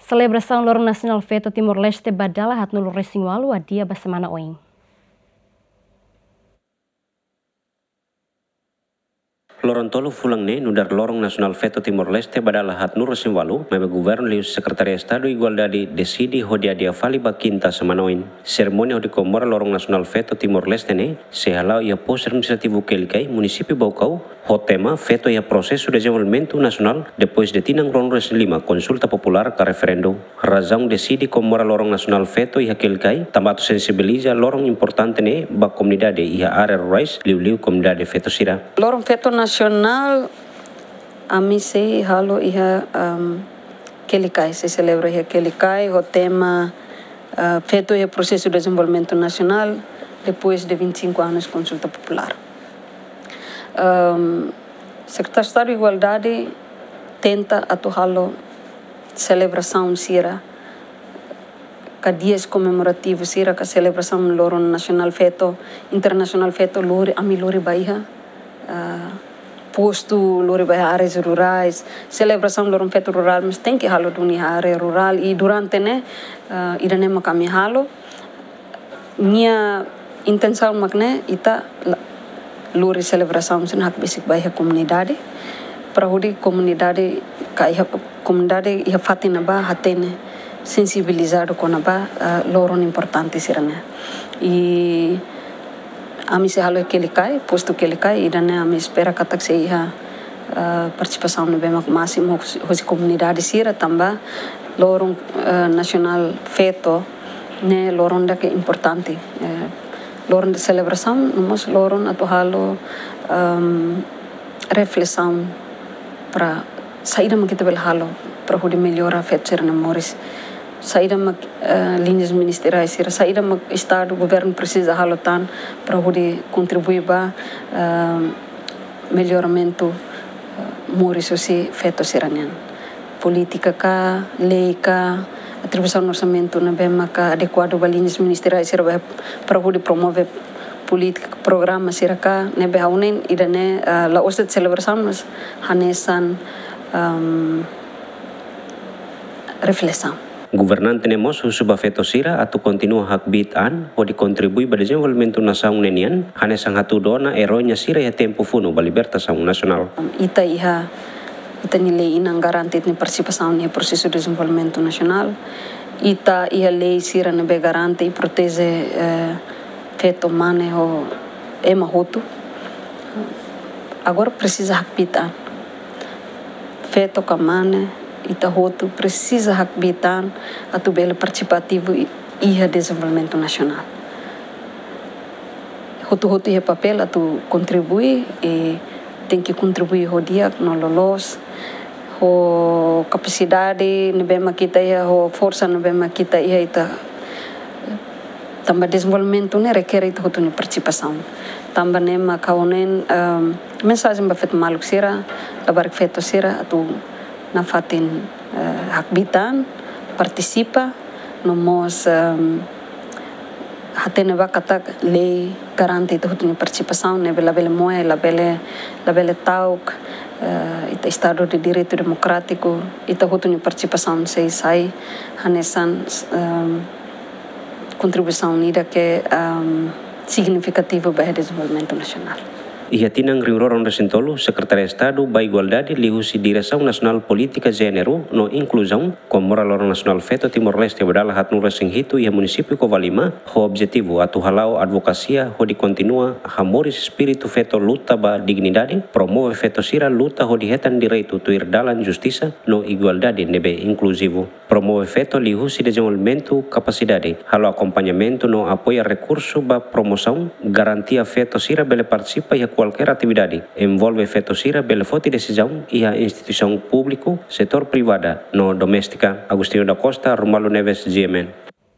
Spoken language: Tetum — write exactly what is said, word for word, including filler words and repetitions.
Selebrasaun Loron Nasionál Feto Timor-Leste ba dala haatnulu-resin-ualu adia ba semana oin. Loron tolu fulan ne'e nu'udar Loron Nasionál Feto Timor-Leste ba dala haatnulu-resin-ualu, maibé Governu liuhusi Sekretaria Estadu Igualdade deside hodi adia fali ba Kinta semana oin. Serimónia hodi komemora Loron Nasionál Feto Timor-Leste ne'e sei hala'o iha Postu Administrativu Kelikai, Munisípiu Baucau, ho tema Feto iha Prosesu Dezenvolvimentu Nasionál depois de tinan ruanulu-resin-lima konsulta populár ka referendu. Razaun deside komemora Loron Nasionál Feto iha Kelikai, tanba atu sensibiliza loron importante ne'e ba komunidade iha área rurais, liuliu komunidade feto sira. Loron Feto Nasionál, ami sei halo iha, am, Kelikai, sei selebra iha Kelikai, ho tema, ah, Feto iha Prosesu Dezenvolvimentu Nasionál, depois de vinte e cinco anos konsulta populár. Am, Sekretáriu Estadu Igualdade tenta atu halo selebrasaun sira, ka dias komemorativu sira, ka selebrasaun Loron Nasionál Feto, Internasionál Feto, lori, ami lori ba iha, ah, postu, lori ba iha áreas rurais. Selebrasaun Loron Feto rurál, mas tenke halo duni iha área rurál. I durante ne'e, ah, ida-ne'e mak ami halo. Nia intensaun mak ne'e, ita la-, lori selebrasaun sira ne'e hakbesik ba iha komunidade, para hodi komunidade ka iha, komunidade iha fatin ne'ebá hatene, sensibilizadu kona-ba, ah, loron importante sira-ne'e. I ami sei halo Kelikai, postu Kelikai, ida-ne'e ami espera katak sei iha, ah, partisipasaun ne'ebé mak másimu hosi, hosi komunidade sira, tanba Loron, ah, Nasionál Feto ne'e loron ida ke importante. Eh, loron de selebrasaun, no mós loron atu halo, ehm, reflesaun para saida mak ita bele halo para hodi mellora feto sira-nia moris. Saida mak, eh, liñas ministeriais sira, saida mak Estadu, Governu presiza halo tan para hodi kontribui ba, ehm, melloramentu, eh, moris hosi feto sira-nian. Polítika ka, lei ka, atribuisaun orsamentu ne'ebé maka adekuadu ba liñas ministeriais sira ba para hodi promove polítika, programa sira ka, ne'ebé ha'u hanoin ida-ne'e, ah, la'ós de'it selebrasaun, mas hanesan, ehm, reflesaun. Governante ne'e mós husu ba feto sira atu kontinua hakbiit an hodi kontribui ba dezenvolvimentu nasaun ne'e nian, hanesan hatudu ona erói nia sira iha tempu funu ba libertasaun nasionál. Ita iha, ita-nia lei-inan garante ita-nia partisipasaun iha prosesu dezenvolvimentu nasionál. Ita iha lei sira ne'ebé garante i proteje, eh, feto, mane ho ema hotu. Agora presiza hakbiit an. Feto ka mane, ita hotu presiza hakbiit an atu bele partisipativu i-, iha dezenvolvimentu nasionál. Hotu-hotu iha papél atu kontribui, i tenke kontribui ho di'ak no loloos, ho kapasidade ne'ebé mak ita iha, ho forsa ne'ebé mak ita iha, ita, tanba dezenvolvimentu ne'e rekere ita hotu nia partisipasaun. Tanba ne'e mak ha'u hanoin, ehm, mensajen ba feto maluk sira, labarik feto sira, atu nafatin, eh, hakbiit an, partisipa, no mós, ehm, hatene ba katak lei garante ita hotu nia partisipasaun, ne'ebé labele moe, labele, labele ta'uk, eh, ita Estadu de Direitu Demokrátiku, ita hotu nia partisipasaun sei sai hanesan, ehm, kontribuisaun ida ke, ehm, signifikativu ba iha dezenvolvimentu nasionál. Iha tinan rihun rua ruanulu-resin-tolu, Sekretaria Estadu ba Igualdade liuhusi Diresaun Nasionál Polítika Jéneru no Inkluzaun komemora Loron Nasionál Feto Timor-Leste ba dala haatnulu-resin-hitu iha Munisípiu Covalima, ho objetivu atu hala'o advokasia hodi kontinua hamoris espíritu feto luta ba dignidade, promove feto sira luta hodi hetan direitu tuir dalan justisa no igualdade ne'ebé inkluzivu. Promove feto liuhusi dezenvolvimentu kapasidade, halo akompañamentu no apoia rekursu ba promosaun, garantia feto sira bele partisipa iha kualkér atividade, envolve feto sira bele foti desizaun iha instituisaun públiku, setór privada no doméstika. Agostinho da Costa, Romualdo Neves, G M N.